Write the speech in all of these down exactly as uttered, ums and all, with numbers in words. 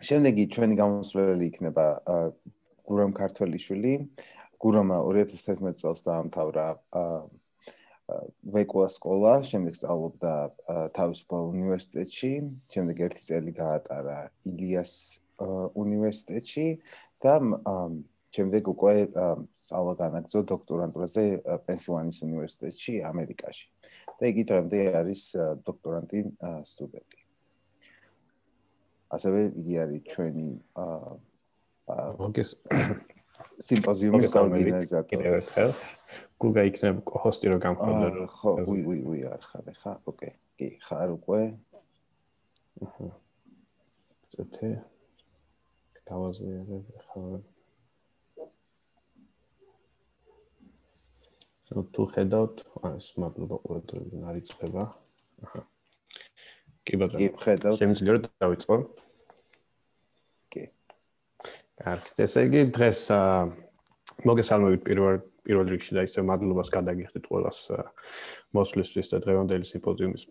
შემდეგი ჩვენი გამოსვლელი იქნება გურამ ქართველიშვილი. გურამმა ორი ათას თერთმეტი წელს დაამთავრა ვეკუა სკოლა, შემდეგ სწავლობდა თავისუფალ უნივერსიტეტში, შემდეგ ერთი წელი გაატარა ილიას უნივერსიტეტში და შემდეგ უკვე სწავლა განაგრძო დოქტორანტურაზე პენსილვანიის უნივერსიტეტში, ამერიკაში. და იგი დღემდე არის დოქტორანტი სტუდენტი. ასევე იგი არის ჩვენი სიმპოზიუმის ორგანიზატორი. გუგა იქნება ჰოსტი რო გამხდარ. ხო, უი, უი, უი, არ ხარ ხა? ოკეი. კი, ხარ უკვე. აჰა. ზეთე. დავაზვიარებ ხარ. თუ ხედავთ, ეს მადლობა ყურადღებისთვის არ იწება. აჰა. კი ბატონო. კი ხედავთ. შემიძლია რომ დავიწყო? კი. კარგით, ესე იგი დღეს მოგესალმებით პირველ პირველ რიგში და ისე მადლობას გადაგიხდით ყველას მოსვლისთვის და დღევანდელი სიმპოზიუმის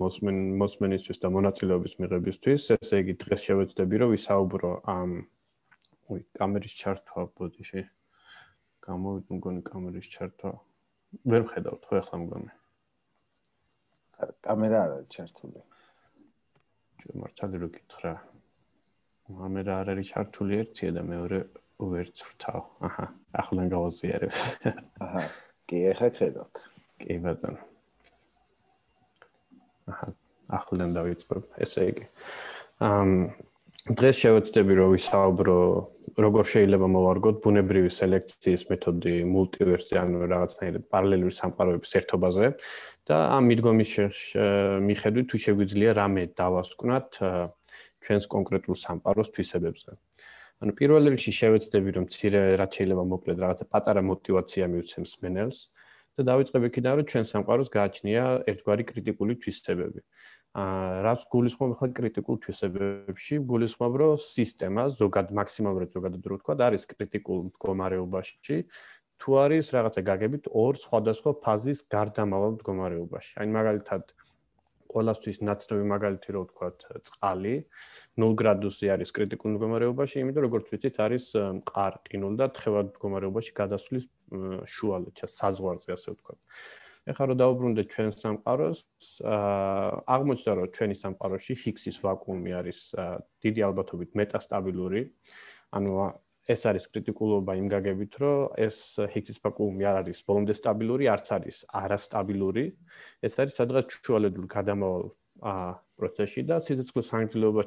მოსმენისთვის და მონაწილეობის მიღებისთვის. ესე იგი დღეს შევეცდები რომ ვისაუბრო ამ უი, კამერის ჩართვა ბოდიში. გამოვიდა მგონი კამერის ჩართვა. ვერ ვხედავთ ხო ახლა მგონი? კამერა არ არის ჩართული. ჩვენ მართალი რო გითხრა. კამერა არ არის ჩართული ერთია და მეორე ვერც ვრთავ. აჰა, ახლა გავაზიარებ. აჰა, კი, ახლა ხედავთ. კი ბატონო. აჰა, ახლა დავიწყებ. ესე იგი. ამ დღეს შევეცდები რომ ვისაუბრო როგორ შეიძლება მოვარგოთ ბუნებრივი სელექციის მეთოდი მულტივერსზე, ანუ რაღაცნაირად პარალელური სამყაროების ერთობაზე და ამ მიდგომის მიხედვით თუ შეგვიძლია რამე დავასკვნათ ჩვენს კონკრეტულ სამყაროს თვისებებზე. ანუ პირველ რიგში შევეცდები რომ მცირე რაც შეიძლება მოკლედ რაღაცა პატარა мотиваცია მივცემს მენელს და დავიწყებ იქიდან რომ ჩვენ სამყაროს გააჩნია ერთგვარი კრიტიკული თვისებები. აა რაც გულისხმობ ხა კრიტიკულ თვისებებში, გულისხმობ რომ სისტემა ზოგად მაქსიმალურად ზოგადად რო ვთქვა, არის კრიტიკულ მდგომარეობაში, თუ არის რაღაცა გაგებით ორ სხვადასხვა ფაზის გარდამავალ მდგომარეობაში. აი მაგალითად ყველასთვის ნაცნობი მაგალითი რო ვთქვათ, წყალი ნულ გრადუსი არის კრიტიკულ მდგომარეობაში, იმიტომ როგორც ვიცით არის მყარ-ყინულ და თხევად მდგომარეობაში გადასვლის შუალედში, საზღვარზე ასე ვთქვათ. ეხლა რომ დავუბრუნდეთ ჩვენ სამყაროს, აღმოჩნდა რომ ჩვენი სამყაროში ჰიგსის ვაკუუმი არის დიდი ალბათობით მეტასტაბილური, ანუ ეს არის კრიტიკულობა იმ გაგებით, რომ ეს ჰიგსის ვაკუუმი არ არის ბოლომდე სტაბილური, არც არის არასტაბილური, ეს არის სადღაც შუალედურ გადამავალ პროცესში და სიცოცხლის ხანგრძლივობა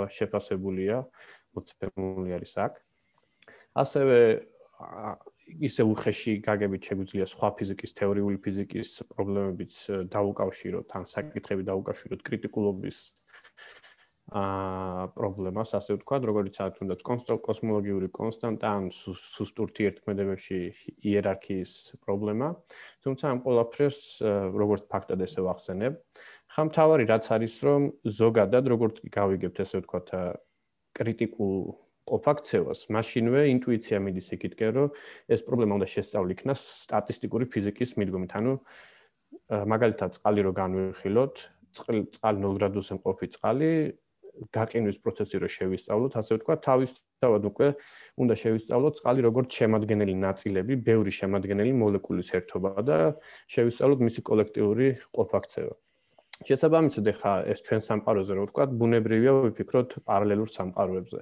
შეფასებულია, მოცემული არის აქ. ასევე ისე უხეში გაგებით შეგვიძლია სხვა ფიზიკის, თეორიული ფიზიკის პრობლემებიც დაუკავშიროთ, ან საკითხები დაუკავშიროთ კრიტიკულობის აა პრობლემას, ასე ვთქვათ, როგორც არის თუნდაც კოსმოლოგიური კონსტანტა, ან სუსტ ურთიერთქმედებებში იერარქიის პრობლემა. თუმცა ამ ყველაფერს როგორც ფაქტად ესე ვახსენებ. ხა მთავარი რაც არის, რომ ზოგადად როგორც გავიგებთ, ესე ვთქვათ, კრიტიკულ ყოფაქცევას, მაშინვე ინტუიცია მიდის იქითკენ, რომ ეს პრობლემა უნდა შესწავლი იქნას სტატისტიკური ფიზიკის მიდგომით. ანუ მაგალითად წყალი რო განვიხილოთ, წყალი ნულ გრადუსზე მყოფი წყალი გაყინვის პროცესი რო შევისწავლოთ, ასე ვთქვათ, თავისთავად უკვე უნდა შევისწავლოთ წყალი როგორც შემადგენელი ნაწილები, ბევრი შემადგენელი მოლეკულის ერთობა და შევისწავლოთ მისი კოლექტიური ყოფაქცევა. შესაბამისად, ხა ეს ჩვენ სამყაროზე რო ვთქვათ, ბუნებრივია ვიფიქროთ პარალელურ სამყაროებზე.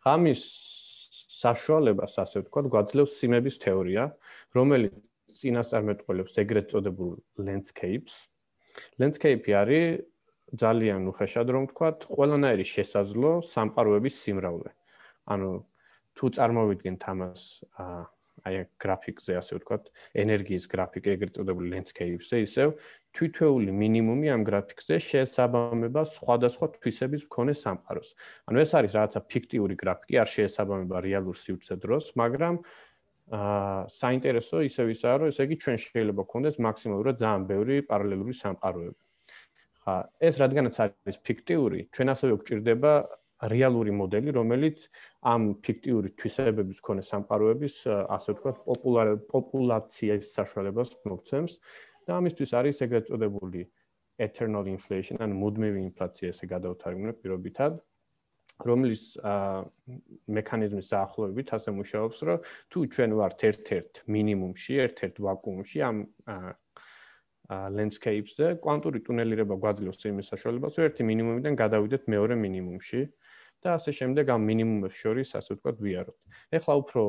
ამის საშუალებას, ასე ვთქვათ, გვაძლევს სიმების თეორია, რომელიც წინასწარმეტყველებს ეგრეთ წოდებულ landscapes. Landscape არის ძალიან უხეშად რომ ვთქვათ, ყველანაირი შესაძლო სამყაროების სიმრავლე. ანუ თუ წარმოვიდგენთ ამას აი გრაფიკზე, ასე ვთქვათ, ენერგიის გრაფიკი ეგრეთ წოდებულ landscapes-ზე, ისევ თითოეული მინიმუმი ამ გრაფიკზე შეესაბამება სხვადასხვა თვისების მქონე სამყაროს. ანუ ეს არის რაღაცა ფიქტიური გრაფიკი, არ შეესაბამება რეალურ სივრცე დროს, მაგრამ აა საინტერესო ისევ ისაა, რომ ესე იგი ჩვენ შეიძლება გქონდეს მაქსიმალურად ძალიან ბევრი პარალელური სამყაროები. ხა ეს რადგანაც არის ფიქტიური, ჩვენ ასევე გვჭირდება რეალური მოდელი, რომელიც ამ ფიქტიური თვისებების მქონე სამყაროების, ასე ვთქვათ, პოპულაციის საშუალებას მოგცემს. და ამისთვის არის ეგრეთ წოდებული eternal inflation, ან მუდმივი ინფლაცია, ესე გადავთარგმნებ პირობითად. რომლის მექანიზმის დაახლოებით ასე მუშაობს, რომ თუ ჩვენ ვართ ერთ-ერთ მინიმუმში, ერთ-ერთ ვაკუუმში ამ landscape-ზე, კვანტური ტუნელირება გვაძლევს იმის საშუალებას, რომ ერთი მინიმუმიდან გადავიდეთ მეორე მინიმუმში და ასე შემდეგ ამ მინიმუმებს შორის, ასე ვთქვათ, ვიაროთ. ეხლა უფრო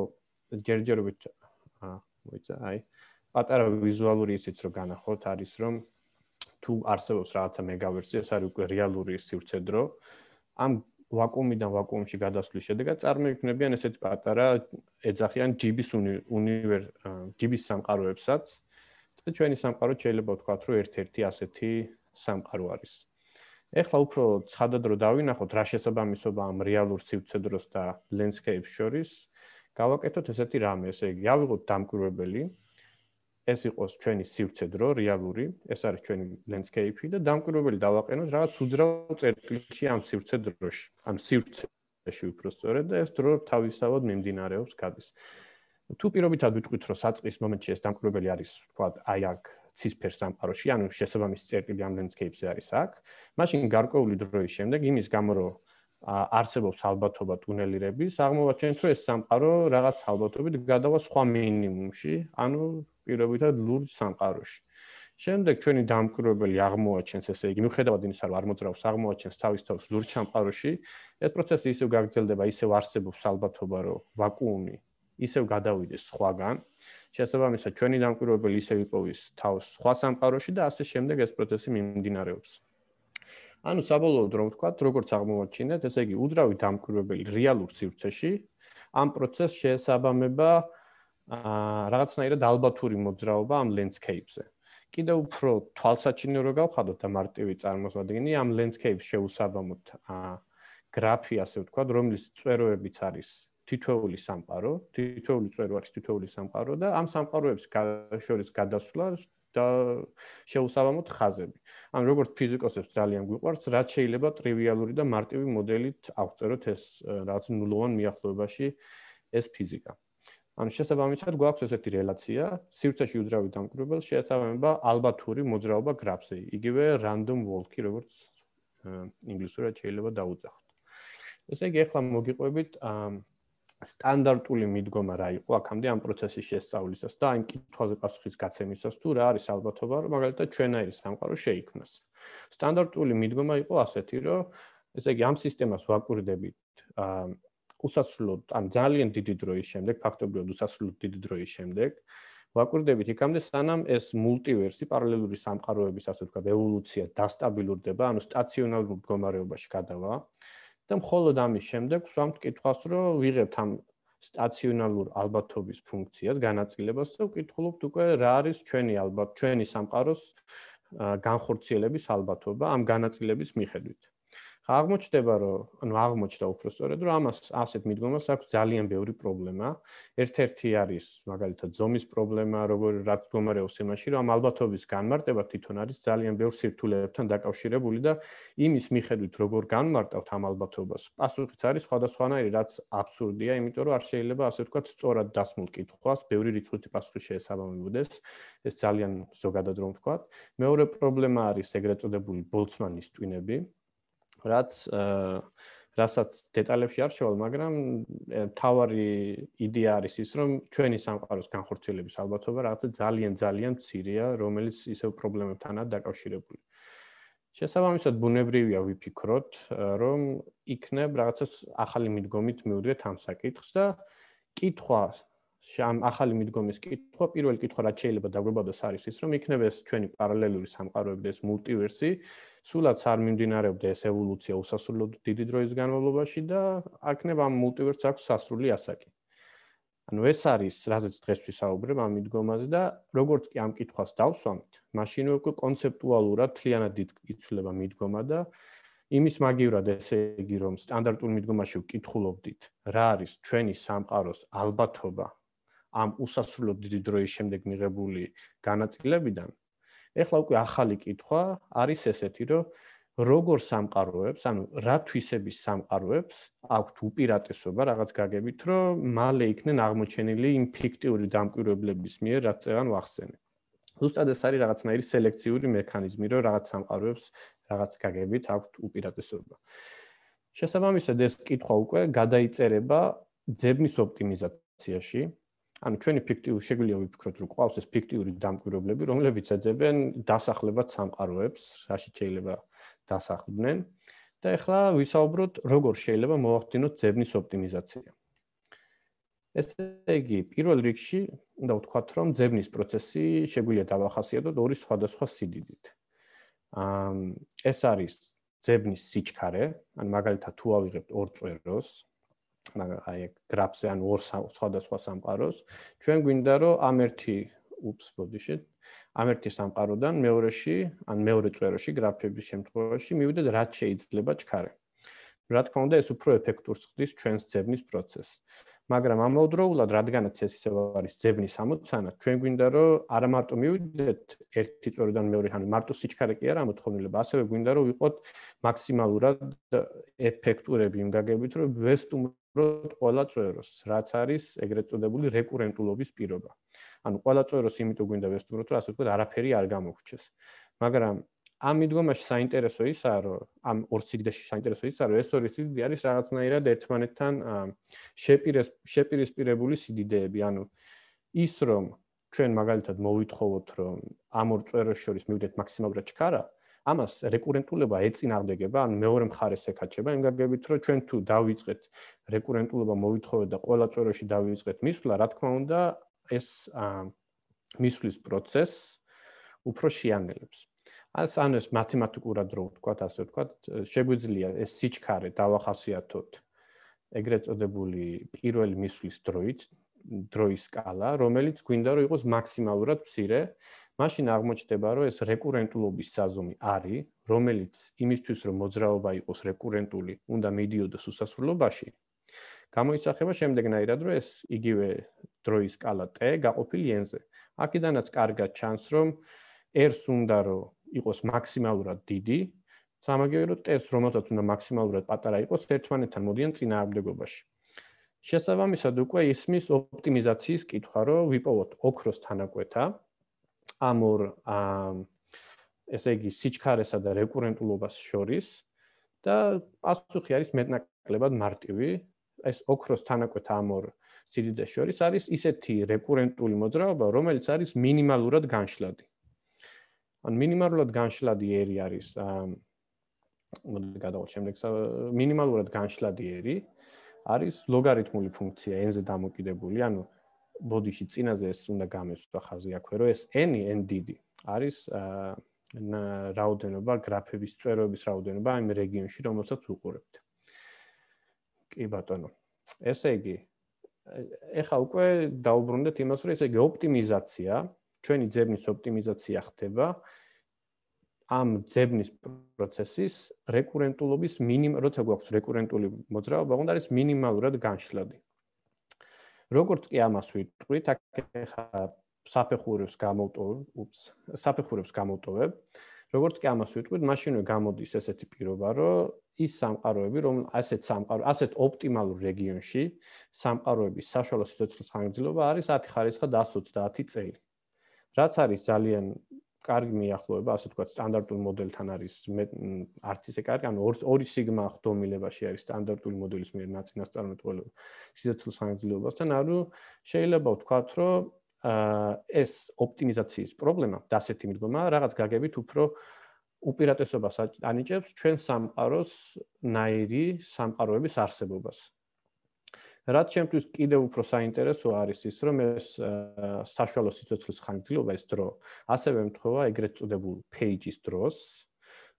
ჯერჯერობით მოიცა, აი, პატარა ვიზუალური ისიც რომ განახოთ არის, რომ თუ არსებობს რაღაცა მეგავერსი, ეს არის უკვე რეალური სივრცე-დრო, ამ ვაკუუმიდან ვაკუუმში გადასვლის შედეგად წარმოიქმნებიან ესეთი პატარა ეძახიან ჯიბის უნივერ ჯიბის სამყაროებსაც და ჩვენი სამყარო შეიძლება ვთქვათ, რომ ერთ-ერთი ასეთი სამყარო არის. ეხლა უფრო ცხადად რო დავინახოთ რა შესაბამისობა ამ რეალურ სივრცე-დროს და landscape-ს შორის, გავაკეთოთ ესეთი რამე, ესე იგი, ავიღოთ დამკვირვებელი ეს იყოს ჩვენი სივრცე-დრო რეალური, ეს არის ჩვენი landscape-ი და დამკვირვებელი დავაყენოთ რაღაც უძრავ წერტილში ამ სივრცე-დროში, ამ სივრცეში უფრო სწორედ და ეს დრო თავისთავად მიმდინარეობს გადის. თუ პირობითად ვიტყვით, რომ საწყის მომენტში ეს დამკვირვებელი არის, ვთქვათ, აი აქ ცისფერ სამყაროში, ანუ შესაბამისი წერტილი ამ landscape-ზე არის აქ, მაშინ გარკვეული დროის შემდეგ იმის გამო რომ არსებობს ალბათობა ტუნელირების, აღმოვაჩენთ, რომ ეს სამყარო რაღაც ალბათობით გადავა სხვა მინიმუმში, ანუ პირობითად ლურჯ სამყაროში. შემდეგ ჩვენი დამკვირვებელი აღმოაჩენს, ესე იგი, მიუხედავად იმისა, რომ არ მოძრაობს, აღმოაჩენს თავის თავს ლურჯ სამყაროში, ეს პროცესი ისევ გაგრძელდება, ისევ არსებობს ალბათობა, რომ ვაკუუმი ისევ გადავიდეს სხვაგან. შესაბამისად, ჩვენი დამკვირვებელი ისევ იპოვის თავს სხვა სამყაროში და ასე შემდეგ ეს პროცესი მიმდინარეობს. ანუ საბოლოოდ რომ ვთქვათ, როგორც აღმოვაჩინეთ, ესე იგი, უძრავი დამკვირვებელი რეალურ სივრცეში ამ პროცესს შეესაბამება რაღაცნაირად ალბათური მოძრაობა ამ landscape-ზე. კიდევ უფრო თვალსაჩინო რო გავხადოთ და მარტივი წარმოსადგენი, ამ landscape-ს შეუსაბამოთ გრაფი, ასე ვთქვათ, რომლის წვეროებიც არის თითოეული სამყარო, თითოეული წვერო არის თითოეული სამყარო და ამ სამყაროებს შორის გადასვლა და შეუსაბამოთ ხაზები. ანუ როგორც ფიზიკოსებს ძალიან გვიყვარს, რაც შეიძლება ტრივიალური და მარტივი მოდელით აღწეროთ ეს რაღაც ნულოვან მიახლოებაში ეს ფიზიკა. ანუ შესაბამისად გვაქვს ესეთი რელაცია, სივრცეში უძრავი დამკვირვებელს შეესაბამება ალბათური მოძრაობა გრაფზე, იგივე random walk-ი, როგორც ინგლისურად შეიძლება დაუძახოთ. ესე იგი, ახლა მოგიყვებით სტანდარტული მიდგომა რა იყო აქამდე ამ პროცესის შესწავლისას და იმ კითხვაზე პასუხის გაცემისას თუ რა არის ალბათობა, რომ მაგალითად ჩვენაირი სამყარო შეიქმნას. სტანდარტული მიდგომა იყო ასეთი, რომ ესე იგი, ამ სისტემას ვაკვირდებით უსასრულოდ, ან ძალიან დიდი დროის შემდეგ, ფაქტობრივად უსასრულოდ დიდი დროის შემდეგ, ვაკვირდებით იქამდე, სანამ ეს მულტივერსი, პარალელური სამყაროების, ასე ვთქვათ, ევოლუცია დასტაბილურდება, ანუ სტაციონარულ მდგომარეობაში გადავა. და მხოლოდ ამის შემდეგ ვსვამთ კითხვას, რომ ვიღებთ ამ სტაციონარულ ალბათობის ფუნქციას, განაწილებას და ვკითხულობთ უკვე რა არის ჩვენი ალბათ, ჩვენი სამყაროს განხორციელების ალბათობა ამ განაწილების მიხედვით. აღმოჩნდება, რომ ანუ აღმოჩნდა უფრო სწორედ, რომ ამას ასეთ მიდგომას აქვს ძალიან ბევრი პრობლემა. ერთ-ერთი არის მაგალითად ზომის პრობლემა, როგორ რაც მდგომარეობს იმაში, რომ ამ ალბათობის განმარტება თვითონ არის ძალიან ბევრ სირთულეებთან დაკავშირებული და იმის მიხედვით, როგორ განმარტავთ ამ ალბათობას, პასუხიც არის სხვადასხვანაირი, რაც აბსურდია, იმიტომ რომ არ შეიძლება ასე ვთქვათ, სწორად დასმულ კითხვას ბევრი რიცხვითი პასუხი შეესაბამებოდეს. ეს ძალიან ზოგადად რომ ვთქვათ. მეორე პრობლემა არის ეგრეთ წოდებული ბოლცმანის ტვინები. რაც რასაც დეტალებში არ შევალ, მაგრამ თავარი იდეა არის ის, რომ ჩვენი სამყაროს განხორციელების ალბათობა რაღაცა ძალიან ძალიან მცირეა, რომელიც ისევ პრობლემებთანაა დაკავშირებული. შესაბამისად, ბუნებრივია ვიფიქროთ, რომ იქნებ რაღაცა ახალი მიდგომით მივდგეთ ამ საკითხს და კითხვა ამ ახალი მიდგომის კითხვა, პირველი კითხვა რაც შეიძლება დაგვებადოს არის ის, რომ იქნება ეს ჩვენი პარალელური სამყაროები და ეს მულტივერსი, სულაც არ მიმდინარეობდა ეს ევოლუცია უსასრულოდ დიდი დროის განმავლობაში და აქნება ამ მულტივერსს აქვს სასრული ასაკი. ანუ ეს არის, რაზეც დღეს ვისაუბრებ ამ მიდგომაზე და როგორც კი ამ კითხვას დავსვამთ, მაშინვე უკვე კონცეპტუალურად თლიანად იცვლება მიდგომა და იმის მაგივრად ესე იგი, რომ სტანდარტულ მიდგომაში ვკითხულობდით, რა არის ჩვენი სამყაროს ალბათობა ამ უსასრულოდ დიდი დროის შემდეგ მიღებული განაწილებიდან, ეხლა უკვე ახალი კითხვა არის ესეთი, რომ როგორ სამყაროებს, ანუ რა თვისების სამყაროებს აქვთ უპირატესობა რაღაც გაგებით, რომ მალე იქნენ აღმოჩენილი იმ ფიქტიური დამკვირვებლების მიერ, რაც წევან ვახსენებ. ზუსტად ეს არის რაღაცნაირი სელექციური მექანიზმი, რომ რაღაც სამყაროებს რაღაც გაგებით აქვთ უპირატესობა. შესაბამისად ეს კითხვა უკვე გადაიწერება ძებნის ოპტიმიზაციაში. ანუ ჩვენი ფიქტიური შეგვიძლია ვიფიქროთ, რომ ყავს ეს ფიქტიური დამკვირვებლები, რომლებიც ეძებენ დასახლებად სამყაროებს, რაშიც შეიძლება დასახლდნენ. და ეხლა ვისაუბროთ, როგორ შეიძლება მოვახდინოთ ძებნის ოპტიმიზაცია. ესე იგი, პირველ რიგში უნდა ვთქვათ, რომ ძებნის პროცესი შეგვიძლია დავახასიათოთ ორი სხვადასხვა სიდიდით. ეს არის ძებნის სიჩქარე, ან მაგალითად თუ ავიღებთ ორ წვეროს, მაგრამ აი ეგ გრაფზე ან ორ სხვადასხვა სამყაროს, ჩვენ გვინდა რომ ამ ერთი უps ბოდიშეთ, ამ ერთი სამყაროდან მეორეში, ან მეორე წვეროში გრაფების შემთხვევაში მივიდეთ რაც შეიძლება ჩქარე. რა თქმა უნდა, ეს უფრო ეფექტურს ხდის ჩვენს ძებნის პროცესს. მაგრამ ამავდროულად, რადგანაც ეს ისევ არის ძებნის ამოცანა, ჩვენ გვინდა რომ არა მარტო მივიდეთ ერთი წვეროდან მეორე, ანუ მარტო სიჩქარე კი არა ამოთხოვნილება, ასევე გვინდა რომ ვიყოთ მაქსიმალურად ეფექტურები იმ გაგებით, რომ ვესტუმროთ ყველა წვეროს, რაც არის ეგრეთ წოდებული რეკურენტულობის პირობა. ანუ ყველა წვეროს იმიტომ გვინდა ვესტუმროთ, რომ ასე ვთქვათ, არაფერი არ გამოგვრჩეს. მაგრამ ამ მიდგომაში საინტერესო ისაა, რომ ამ ორ სიგდეში საინტერესო ისაა, რომ ეს ორი სიდიდე არის რაღაცნაირად ერთმანეთთან შეპირეს შეპირისპირებული სიდიდეები, ანუ ის რომ ჩვენ მაგალითად მოვითხოვოთ, რომ ამ ორ წვეროს შორის მივიდეთ მაქსიმალურად ჩქარა, ამას რეკურენტულობა ეწინააღმდეგება, ან მეორე მხარეს ეკაჩება, იმ გაგებით, რომ ჩვენ თუ დავიწყეთ რეკურენტულობა მოვითხოვოთ და ყველა წვეროში დავიწყეთ მისვლა, რა თქმა უნდა, ეს მისვლის პროცესს უფრო შეანელებს. As ანუ ეს მათემატიკურად რო ვთქვათ, ასე ვთქვათ, შეგვიძლია ეს სიჩქარე დავახასიათოთ ეგრეთ წოდებული პირველი მისვლის დროით, დროის სკალა, რომელიც გვინდა რომ იყოს მაქსიმალურად მცირე, მაშინ აღმოჩნდება, რომ ეს რეკურენტულობის საზომი არის, რომელიც იმისთვის რომ მოძრაობა იყოს რეკურენტული, უნდა მიდიოდოს უსასრულობაში. გამოისახება შემდეგნაირად, რომ ეს იგივე დროის სკალა t გაყოფილი n-ზე. აქედანაც კარგად ჩანს, რომ r-ს უნდა რომ იყოს მაქსიმალურად დიდი, სამაგიეროდ t-ს რომელსაც უნდა მაქსიმალურად პატარა იყოს, ერთმანეთთან მოდიან წინააღმდეგობაში. შესაბამისად უკვე ისმის ოპტიმიზაციის კითხვა, რომ ვიპოვოთ ოქროს თანაკვეთა ამ ორ ესე იგი სიჩქარესა და რეკურენტულობას შორის და პასუხი არის მეტნაკლებად მარტივი. ეს ოქროს თანაკვეთა ამ ორ სიდიდეს შორის არის ისეთი რეკურენტული მოძრაობა, რომელიც არის მინიმალურად განშლადი. ან მინიმალურად განშლადი r არის მოდი გადავყოთ შემდეგ მინიმალურად განშლადი r არის ლოგარითმული ფუნქცია n-ზე დამოკიდებული, ანუ ბოდიში წინაზე ეს უნდა გამესვა ხაზი აქვე, რომ ეს n, n დიდი არის რაოდენობა გრაფების წვეროების რაოდენობა იმ რეგიონში, რომელსაც ვუყურებთ. კი ბატონო. ესე იგი, ეხლა უკვე დაუბრუნდეთ იმას, რომ ესე იგი ოპტიმიზაცია, ჩვენი ძებნის ოპტიმიზაცია ხდება ამ ძებნის პროცესის რეკურენტულობის მინიმალ, როცა გვაქვს რეკურენტული მოძრაობა, უნდა არის მინიმალურად განშლადი. როგორც კი ამას ვიტყვით, აქ ეხლა საფეხურებს გამოვტოვებ, უps, საფეხურებს გამოვტოვებ. როგორც კი ამას ვიტყვით, მაშინვე გამოდის ესეთი პირობა, რომ ის სამყაროები, რომ ასეთ სამყარო, ასეთ ოპტიმალურ რეგიონში სამყაროების საშუალო სიცოცხლის ხანგრძლივობა არის ათი ხარისხა და ათს ოცდაათი წელი. რაც არის ძალიან კარგი მიახლოება, ასე ვთქვათ, სტანდარტულ მოდელთან არის არც ისე კარგი, ანუ ორი სიგმა ხდომილებაში არის სტანდარტული მოდელის მიერ ნაწინასწარმეტყველება სიცოცხლის ხანგრძლივობასთან, ანუ შეიძლება ვთქვათ, რომ ეს ოპტიმიზაციის პრობლემა და ასეთი მიდგომა რაღაც გაგებით უფრო უპირატესობას ანიჭებს ჩვენ სამყაროს ნაირი სამყაროების არსებობას. რაც ჩემთვის კიდევ უფრო საინტერესო არის ის, რომ ეს საშუალო სიცოცხლის ხანგრძლივობა, ეს დრო, ასევე ემთხვევა ეგრეთ წოდებულ page-ის დროს,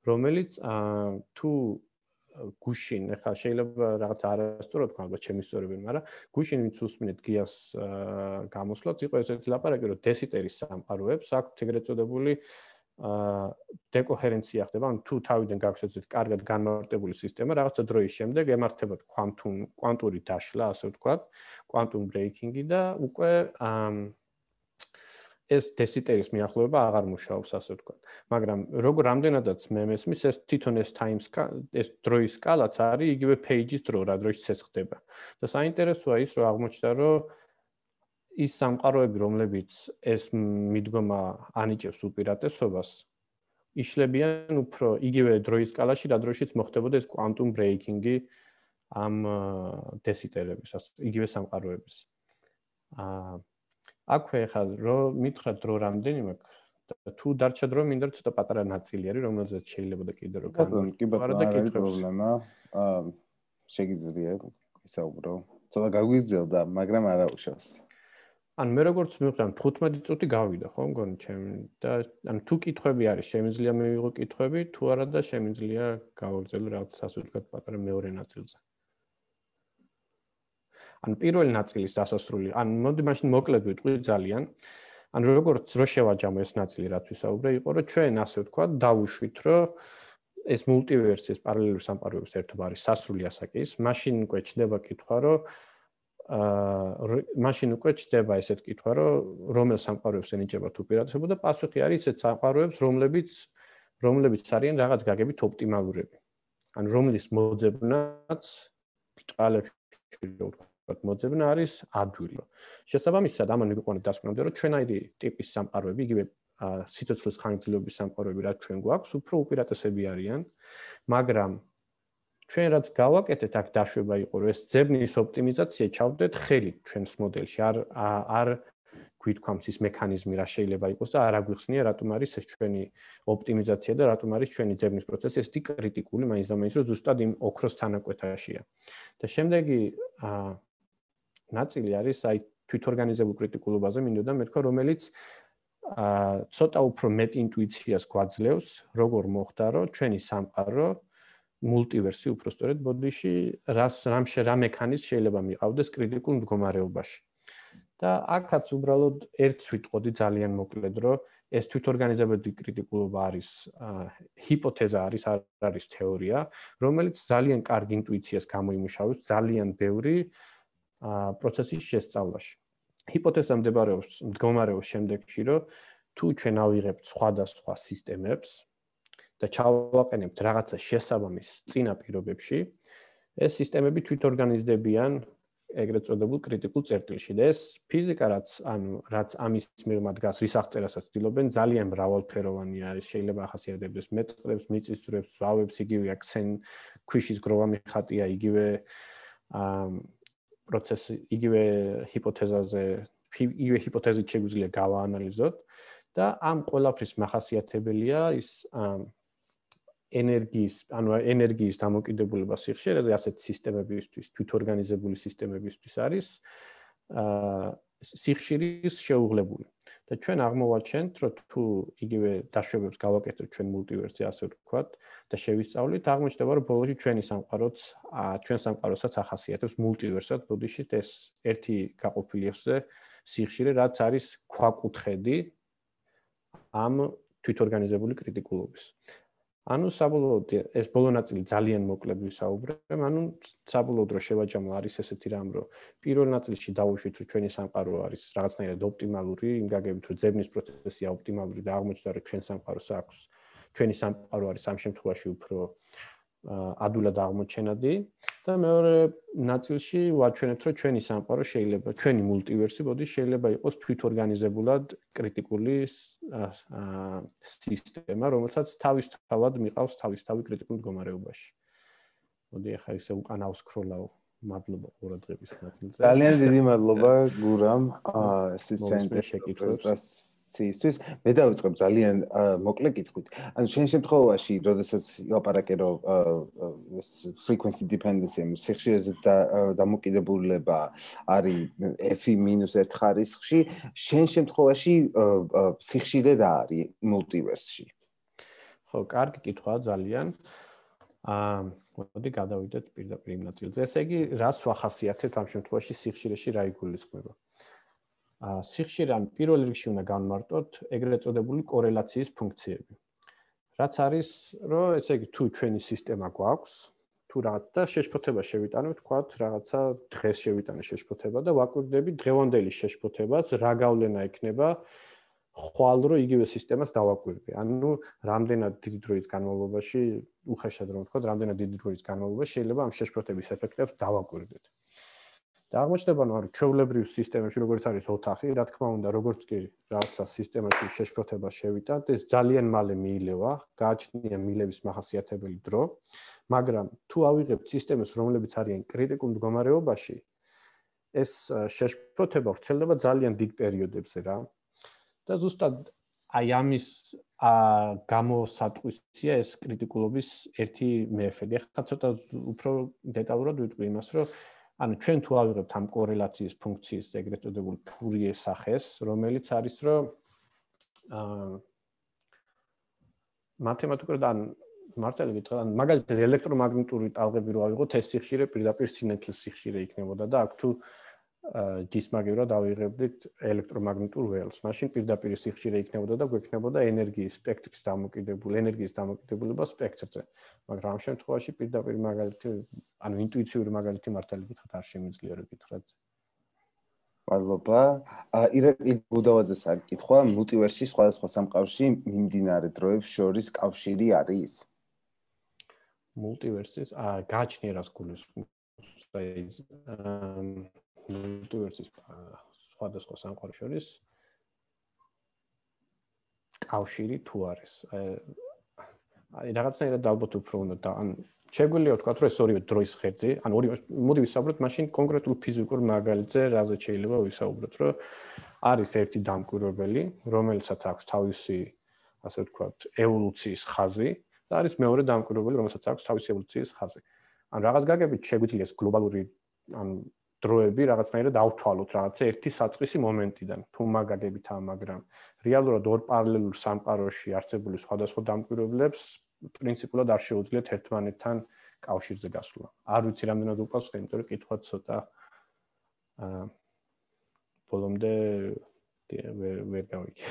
რომელიც თუ გუშინ, ეხლა შეიძლება რაღაც არასწორად თქვა, ალბათ ჩემი სწორებენ, მაგრამ გუშინ ვინც უსმინეთ გიას გამოსვლაც, იყო ესეთი ლაპარაკი, რომ დესიტერის სამყაროებს აქვთ ეგრეთ წოდებული დეკოჰერენცია ხდება, ანუ თუ თავიდან გაქვს ესეთი კარგად განმარტებული სისტემა, რაღაცა დროის შემდეგ ემართებათ კვანტუმ კვანტური დაშლა, ასე ვთქვათ, კვანტუმ ბრეიკინგი და უკვე ეს დესიტერის მიახლოება აღარ მუშაობს, ასე ვთქვათ. მაგრამ როგორ რამდენადაც მე მესმის, ეს თვითონ ეს time ეს დროის სკალაც არის იგივე page-ის დრო, რა დროშიც ეს ხდება. და საინტერესოა ის, რომ აღმოჩნდა, რომ ის სამყაროები, რომლებიც ეს მიდგომა ანიჭებს უპირატესობას, იშლებიან უფრო იგივე დროის სკალაში, რა დროშიც მოხდებოდა ეს quantum breaking-ი ამ დესიტერების, იგივე სამყაროების. აა აქვე ხა რომ მითხრა დრო რამდენი მაქვს და თუ დარჩა დრო მინდა ცოტა პატარა ნაწილი არის, რომელზეც შეიძლება და კიდე რომ განვიხილო. კი ბატონო, არ არის პრობლემა. აა შეგიძლია ისაუბრო. ცოტა გაგვიზელდა, მაგრამ არა უშავს. ან მე როგორც მივხვდი, თხუთმეტი წუთი გავიდა, ხო, მგონი ჩემი და ან თუ კითხვები არის, შემიძლია მივიღო კითხვები, თუ არა და შემიძლია გავაგრძელო რაღაც ასე ვთქვათ პატარა მეორე ნაწილზე. ან პირველი ნაწილის დასასრული, ან მოდი მაშინ მოკლედ ვიტყვი ძალიან. ან როგორც რო შევაჯამო ეს ნაწილი, რაც ვისაუბრე, იყო რომ ჩვენ ასე ვთქვათ, დავუშვით, რომ ეს მულტივერსის პარალელური სამყაროების ერთობა არის სასრული ასაკის, მაშინ უკვე ჩნდება კითხვა, რომ აა მაშინ უკვე ჩნდება ესეთ კითხვა, რომ რომელ სამყაროებს ენიჭება თუ პირატესობა და პასუხი არის ესეთ სამყაროებს, რომლებიც რომლებიც არიან რაღაც გაგებით ოპტიმალურები. ან რომლის მოძებნაც ბრჭყალებში ვთქვათ, მოძებნა არის ადვილი. შესაბამისად, ამან მიგვიყვანა დასკვნამდე, რომ ჩვენაირი ტიპის სამყაროები, იგივე სიცოცხლის ხანგრძლივობის სამყაროები, რაც ჩვენ გვაქვს, უფრო უპირატესები არიან, მაგრამ ჩვენ რაც გავაკეთეთ, აქ დაშვება იყო, რომ ეს ძებნის ოპტიმიზაცია ჩავდეთ ხელით ჩვენს მოდელში, არ არ გვითქვამს ის მექანიზმი, რა შეიძლება იყოს და არ აგვიხსნია, რატომ არის ეს ჩვენი ოპტიმიზაცია და რატომ არის ჩვენი ძებნის პროცესი ესეთი კრიტიკული, მაინც და მაინც რომ ზუსტად იმ ოქროს თანაკვეთაშია. და შემდეგი ნაწილი არის აი თვითორგანიზებულ კრიტიკულობაზე მინდოდა მეთქვა, რომელიც აა ცოტა უფრო მეტ ინტუიციას გვაძლევს, როგორ მოხდა, რომ ჩვენი სამყარო მულტივერსი უბრალოდ ბოდიში რას რამშე რა მექანიზმი შეიძლება მიყავდეს კრიტიკულ მდგომარეობაში. და აქაც უბრალოდ ერთს ვიტყოდი ძალიან მოკლედ, რომ ეს თვითორგანიზებული კრიტიკულობა არის ჰიპოთეზა არის, არ არის თეორია, რომელიც ძალიან კარგ ინტუიციას გამოიმუშავებს ძალიან ბევრი პროცესის შესწავლაში. ჰიპოთეზა მდებარეობს მდგომარეობს შემდეგში, რომ თუ ჩვენ ავიღებთ სხვადასხვა სისტემებს და ჩავაყენებთ რაღაცა შესაბამის წინა პირობებში, ეს სისტემები თვითორგანიზდებიან ეგრეთ წოდებულ კრიტიკულ წერტილში და ეს ფიზიკა რაც ანუ რაც ამის მიღმა დგას, რის აღწერასაც ცდილობენ, ძალიან მრავალფეროვანი არის, შეიძლება ახასიათებდეს მეწყრებს, მიწისძვრებს, ზვავებს, იგივე აქცენ ქვიშის გროვამი ხატია, იგივე აა პროცესი, იგივე ჰიპოთეზაზე, იგივე ჰიპოთეზით შეგვიძლია გავაანალიზოთ და ამ ყველაფრის მახასიათებელია ის ენერგიის, ანუ ენერგიის დამოკიდებულება სიხშირეზე, ასეთ სისტემებისთვის, თვითორგანიზებული სისტემებისთვის არის აა სიხშირის შეუღლებული. და ჩვენ აღმოვაჩენთ, რომ თუ იგივე დაშვებებს გავაკეთებთ ჩვენ მულტივერსზე, ასე ვთქვათ, და შევისწავლით, აღმოჩნდება, რომ ბოლოში ჩვენი სამყაროც, ჩვენ სამყაროსაც ახასიათებს მულტივერსად, ბოდიში ეს ერთი გაყოფილი ეხზე სიხშირე, რაც არის ქვაკუთხედი ამ თვითორგანიზებული კრიტიკულობის. ანუ საბოლოოდ ეს ბოლო ნაწილი ძალიან მოკლედ ვისაუბრებ, ანუ საბოლოოდ რო შევაჯამო არის ესეთი რამ, რომ პირველ ნაწილში დავუშვით, რომ ჩვენი სამყარო არის რაღაცნაირად ოპტიმალური, იმ გაგებით, რომ ძებნის პროცესია ოპტიმალური და აღმოჩნდა, რომ ჩვენ სამყაროს აქვს, ჩვენი სამყარო არის ამ შემთხვევაში უფრო ადვილად აღმოჩენადი და მეორე ნაწილში ვაჩვენებთ, რომ ჩვენი სამყარო შეიძლება, ჩვენი მულტივერსი, ბოდი შეიძლება იყოს თვითორგანიზებულად კრიტიკული სისტემა, რომელსაც თავისთავად მიყავს თავისთავი კრიტიკულ მდგომარეობაში. მოდი ახლა ისე უკან ავსკროლავ. მადლობა ყურადღების ნაწილზე. ძალიან დიდი მადლობა გურამ ეს პრეზენტაციისთვის. მე დავიწყებ ძალიან მოკლე კითხვით. ანუ შენ შემთხვევაში, როდესაც ლაპარაკე რომ frequency dependency, სიხშირეზე დამოკიდებულება არის f მინუს ერთ ხარისხში, შენ შემთხვევაში სიხშირე რა არის მულტივერსში? ხო, კარგი კითხვაა ძალიან. აა მოდი გადავიდეთ პირდაპირ იმ ნაწილზე. ესე იგი, რას ვახასიათებთ ამ შემთხვევაში სიხშირეში რა იგულისხმება? აა სიხშირე ან პირველ რიგში უნდა განმარტოთ ეგრეთ წოდებული კორელაციის ფუნქციები. რაც არის, რომ ესე იგი, თუ ჩვენი სისტემა გვაქვს, თუ რაღაცა შეშფოთება შევიტანებთ, თქვათ, რაღაცა დღეს შევიტანე შეშფოთება და ვაკვირდები დღევანდელი შეშფოთებას, რა გავლენა ექნება ხვალ რო იგივე სისტემას დავაკვირდე. ანუ რამდენად დიდი დროის განმავლობაში, უხეშად რომ ვთქვა, რამდენად დიდი დროის განმავლობაში შეიძლება ამ შეშფოთების ეფექტებს დავაკვირდეთ. და აღმოჩნდება, რომ ჩვეულებრივ სისტემებში როგორც არის ოთახი, რა თქმა უნდა, როგორც კი რაღაცა სისტემაში შეშფოთება შევიტანთ, ეს ძალიან მალე მიილევა, გააჩნია მილების მახასიათებელი დრო, მაგრამ თუ ავიღებთ სისტემებს, რომლებიც არიან კრიტიკულ მდგომარეობაში, ეს შეშფოთება ვრცელდება ძალიან დიდ პერიოდებზე რა. და ზუსტად აი ამის გამოსატყვისია ეს კრიტიკულობის ერთი მეეფედი. ახლა ცოტა უფრო დეტალურად ვიტყვი იმას, რომ ანუ ჩვენ თუ ავიღებთ ამ კორელაციის ფუნქციის ეგრეთ წოდებულ ფურიე სახეს, რომელიც არის რომ აა მათემატიკურად ან მართალი გითხრა, ან მაგალითად ელექტრომაგნიტური ტალღები რო ავიღოთ, ეს სიხშირე პირდაპირ სინათლის სიხშირე იქნებოდა და აქ თუ ჯისმაგივრად ავიღებდით ელექტრომაგნიტურ ველს. მაშინ პირდაპირ სიხშირე იქნებოდა და გვექნებოდა ენერგიის სპექტრის დამოკიდებული, ენერგიის დამოკიდებულება სპექტრზე. მაგრამ ამ შემთხვევაში პირდაპირ მაგალითი, ანუ ინტუიციური მაგალითი მართალი გითხრათ არ შემიძლია რო გითხრათ. მადლობა. ირაკლი გუდავაძეს აკითხვა, მულტივერსის სხვადასხვა სამყაროში მიმდინარე დროებს შორის კავშირი არის? მულტივერსის, აა გააჩნია რას გულისხმობს, აი მულტივერსის სხვადასხვა სამყაროს შორის კავშირი თუ არის. აი რაღაცნაირად ალბათ უფრო უნდა და ან შეგვიძლია ვთქვათ, რომ ეს ორივე დროის ხერხი, ან ორივე მოდი ვისაუბროთ მაშინ კონკრეტულ ფიზიკურ მაგალითზე, რაზე შეიძლება ვისაუბროთ, რომ არის ერთი დამკვირვებელი, რომელსაც აქვს თავისი, ასე ვთქვათ, ევოლუციის ხაზი და არის მეორე დამკვირვებელი, რომელსაც აქვს თავისი ევოლუციის ხაზი. ან რაღაც გაგებით შეგვიძლია ეს გლობალური ან დროები რაღაცნაირად ავთვალოთ რაღაცა ერთი საწყისი მომენტიდან თუ მაგაგებითაა, მაგრამ რეალურად ორ პარალელურ სამყაროში არსებული სხვადასხვა დამკვირვებლებს პრინციპულად არ შეუძლიათ ერთმანეთთან კავშირზე გასვლა. არ ვიცი რამდენად უყვარს, იმიტომ რომ კითხვა ცოტა აა ბოლომდე ვერ ვერ გავიგე.